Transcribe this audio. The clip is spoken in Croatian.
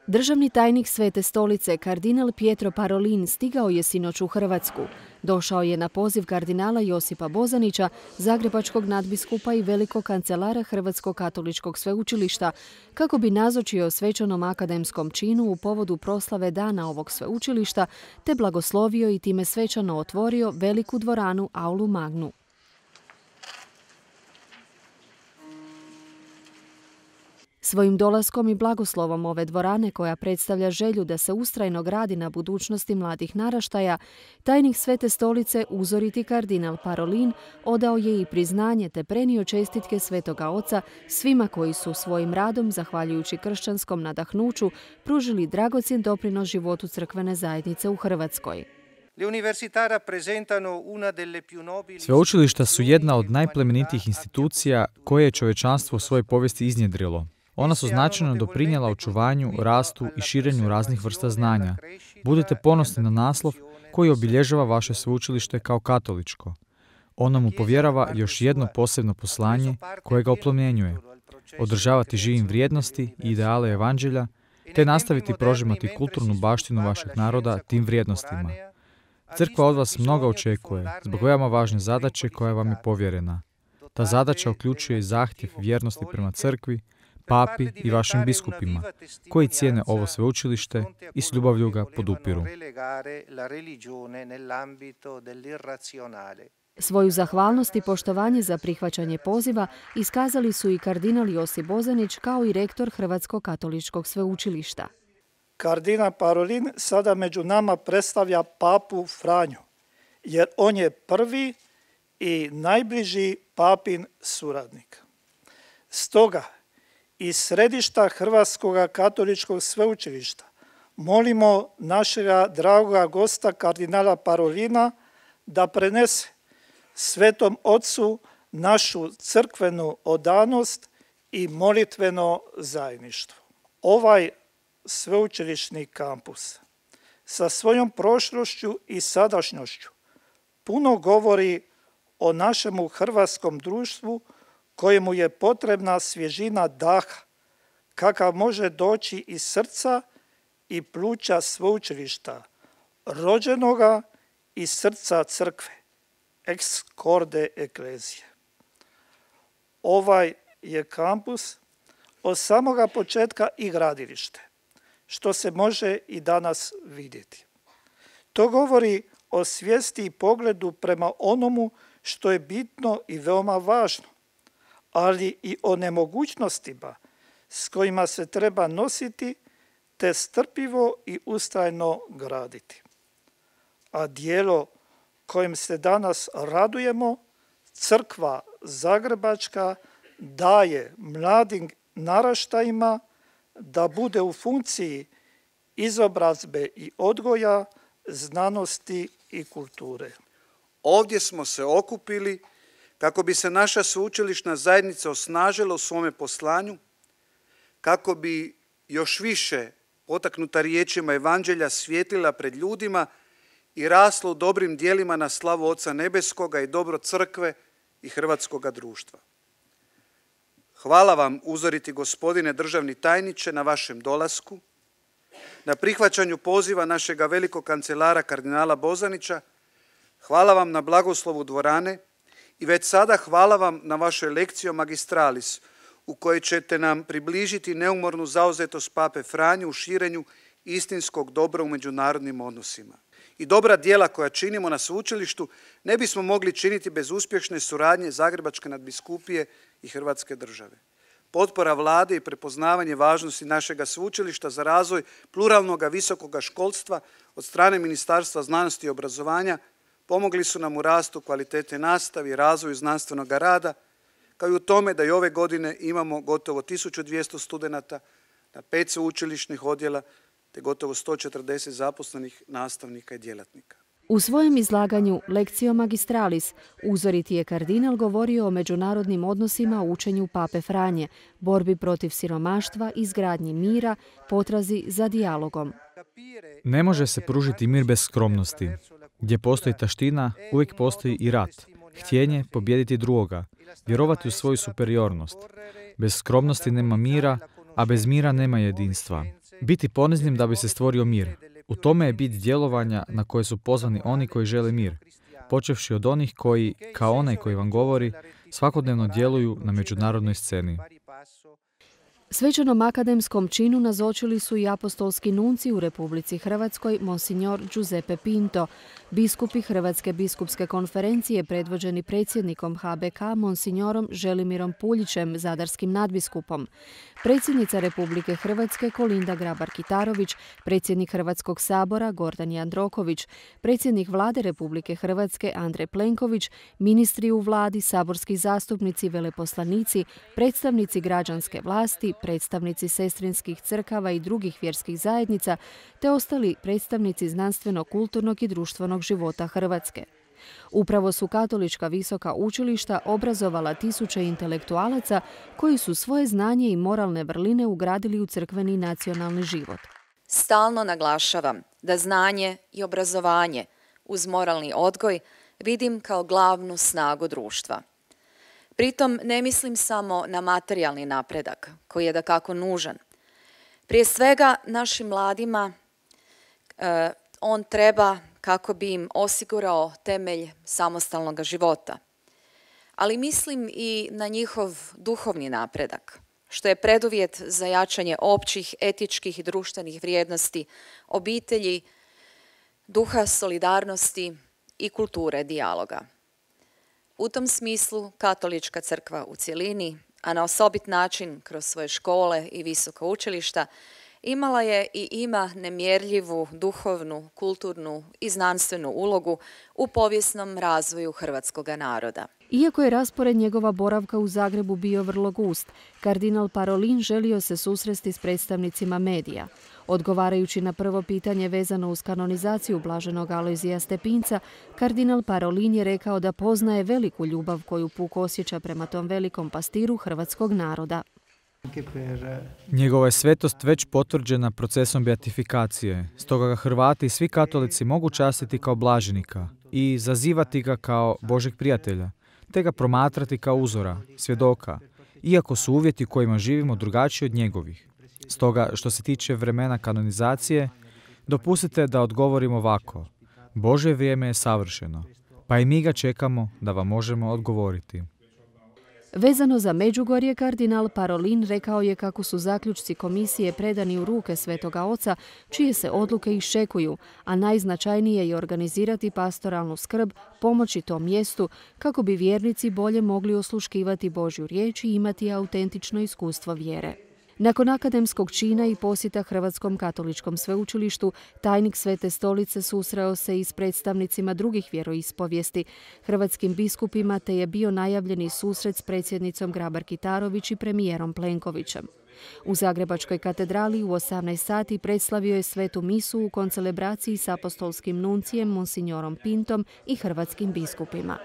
Državni tajnik Svete stolice, kardinal Pietro Parolin, stigao je sinoć u Hrvatsku. Došao je na poziv kardinala Josipa Bozanića, zagrebačkog nadbiskupa i velikog kancelara Hrvatskog katoličkog sveučilišta, kako bi nazočio svečanom akademskom činu u povodu proslave dana ovog sveučilišta, te blagoslovio i time svečano otvorio veliku dvoranu Aulu Magnu. Svojim dolaskom i blagoslovom ove dvorane, koja predstavlja želju da se ustrajno gradi na budućnosti mladih naraštaja, tajnik Svete stolice, uzoriti kardinal Parolin, odao je i priznanje te prenio čestitke Svetoga Oca svima koji su svojim radom, zahvaljujući kršćanskom nadahnuću, pružili dragocjen doprinos životu crkvene zajednice u Hrvatskoj. Sveučilišta su jedna od najplemenitijih institucija koje je čovječanstvo u svojoj povijesti iznjedrilo. Ona su značajno doprinijela očuvanju, rastu i širenju raznih vrsta znanja. Budite ponosni na naslov koji obilježava vaše sveučilište kao katoličko. Ono mu povjerava još jedno posebno poslanje koje ga oplemenjuje. Održavati živim vrijednosti i ideale evanđelja, te nastaviti prožimati kulturnu baštinu vašeg naroda tim vrijednostima. Crkva od vas mnogo očekuje zbog veoma važne zadaće koja vam je povjerena. Ta zadaća uključuje i zahtjev vjernosti prema crkvi, papi i vašim biskupima, koji cijene ovo sveučilište i s ljubavlju ga podupiru. Svoju zahvalnost i poštovanje za prihvaćanje poziva iskazali su i kardinal Josip Bozanić kao i rektor Hrvatskog katoličkog sveučilišta. Kardinal Parolin sada među nama predstavlja papu Franju, jer on je prvi i najbliži papin suradnik. Stoga, iz središta Hrvatskog katoličkog sveučilišta molimo našega dragoga gosta kardinala Parolina da prenese Svetom Otcu našu crkvenu odanost i molitveno zajedništvo. Ovaj sveučilišni kampus sa svojom prošlošću i sadašnjošću puno govori o našemu hrvatskom društvu kojemu je potrebna svježina daha, kakav može doći iz srca i pluća sveučilišta, rođenoga iz srca crkve, ex corde ecclesiae. Ovaj je kampus od samoga početka i gradilište, što se može i danas vidjeti. To govori o svijesti i pogledu prema onomu što je bitno i veoma važno, ali i o nemogućnostima s kojima se treba nositi te strpljivo i ustrajno graditi. A djelo kojim se danas radujemo, crkva zagrebačka daje mladim naraštajima da bude u funkciji izobrazbe i odgoja, znanosti i kulture. Ovdje smo se okupili kako bi se naša sveučilišna zajednica osnažila u svome poslanju, kako bi još više potaknuta riječima evanđelja svijetlila pred ljudima i rasla u dobrim djelima na slavu Oca Nebeskoga i dobro crkve i hrvatskoga društva. Hvala vam, uzoriti gospodine državni tajniče, na vašem dolasku, na prihvaćanju poziva našega velikog kancelara kardinala Bozanića. Hvala vam na blagoslovu dvorane i već sada hvala vam na vašoj lekciji magistralis, u kojoj ćete nam približiti neumornu zauzetost pape Franju u širenju istinskog dobra u međunarodnim odnosima. I dobra djela koja činimo na sveučilištu ne bismo mogli činiti bez uspješne suradnje Zagrebačke nadbiskupije i Hrvatske države. Potpora vlade i prepoznavanje važnosti našega sveučilišta za razvoj pluralnog visokoga školstva od strane Ministarstva znanosti i obrazovanja pomogli su nam u rastu kvalitete nastave i razvoju znanstvenog rada, kao i u tome da i ove godine imamo gotovo 1200 studenata na 5 sveučilišnih odjela te gotovo 140 zaposlenih nastavnika i djelatnika. U svojem izlaganju Lectio Magistralis uzoriti je kardinal govorio o međunarodnim odnosima u učenju pape Franje, borbi protiv siromaštva, izgradnji mira, potrazi za dijalogom. Ne može se pružiti mir bez skromnosti. Gdje postoji taština, uvijek postoji i rat. Htjenje pobijediti drugoga, vjerovati u svoju superiornost. Bez skromnosti nema mira, a bez mira nema jedinstva. Biti poniznim da bi se stvorio mir. U tome je bit djelovanja na koje su pozvani oni koji žele mir, počevši od onih koji, kao onaj koji vam govori, svakodnevno djeluju na međunarodnoj sceni. Svečanom akademskom činu nazočili su i apostolski nunci u Republici Hrvatskoj, monsignor Giuseppe Pinto, biskupi Hrvatske biskupske konferencije predvođeni predsjednikom HBK, monsignorom Želimirom Puljićem, zadarskim nadbiskupom, predsjednica Republike Hrvatske Kolinda Grabar-Kitarović, predsjednik Hrvatskog sabora Gordan Jandroković, predsjednik Vlade Republike Hrvatske Andrej Plenković, ministri u vladi, saborski zastupnici, veleposlanici, predstavnici građanske vlasti, predstavnici sestrinskih crkava i drugih vjerskih zajednica, te ostali predstavnici znanstveno-kulturnog i društvenog života Hrvatske. Upravo su katolička visoka učilišta obrazovala tisuće intelektualaca koji su svoje znanje i moralne vrline ugradili u crkveni nacionalni život. Stalno naglašavam da znanje i obrazovanje uz moralni odgoj vidim kao glavnu snagu društva. Pritom ne mislim samo na materijalni napredak, koji je dakako nužan. Prije svega našim mladima on treba kako bi im osigurao temelj samostalnog života. Ali mislim i na njihov duhovni napredak, što je preduvjet za jačanje općih, etičkih i društvenih vrijednosti, obitelji, duha solidarnosti i kulture dijaloga. U tom smislu Katolička crkva u cjelini, a na osobit način kroz svoje škole i visoka učilišta, imala je i ima nemjerljivu duhovnu, kulturnu i znanstvenu ulogu u povijesnom razvoju hrvatskoga naroda. Iako je raspored njegova boravka u Zagrebu bio vrlo gust, kardinal Parolin želio se susresti s predstavnicima medija. Odgovarajući na prvo pitanje vezano uz kanonizaciju blaženog Alojzija Stepinca, kardinal Parolin je rekao da poznaje veliku ljubav koju puk osjeća prema tom velikom pastiru hrvatskog naroda. Njegova je svetost već potvrđena procesom beatifikacije, stoga ga Hrvati i svi katolici mogu častiti kao blaženika i zazivati ga kao Božeg prijatelja, te ga promatrati kao uzora, svjedoka, iako su uvjeti u kojima živimo drugačiji od njegovih. Stoga, što se tiče vremena kanonizacije, dopustite da odgovorim ovako. Božje vrijeme je savršeno, pa i mi ga čekamo da vam možemo odgovoriti. Vezano za Međugorje, kardinal Parolin rekao je kako su zaključci komisije predani u ruke Svetoga Oca, čije se odluke iščekuju, a najznačajnije je organizirati pastoralnu skrb, pomoći tom mjestu, kako bi vjernici bolje mogli osluškivati Božju riječ i imati autentično iskustvo vjere. Nakon akademskog čina i posjeta Hrvatskom katoličkom sveučilištu, tajnik Svete stolice susreo se i s predstavnicima drugih vjeroispovijesti, hrvatskim biskupima, te je bio najavljeni susret s predsjednicom Grabar-Kitarović i premijerom Plenkovićem. U Zagrebačkoj katedrali u 18 sati predslavio je svetu misu u koncelebraciji s apostolskim nuncijem monsignorom Pintom i hrvatskim biskupima.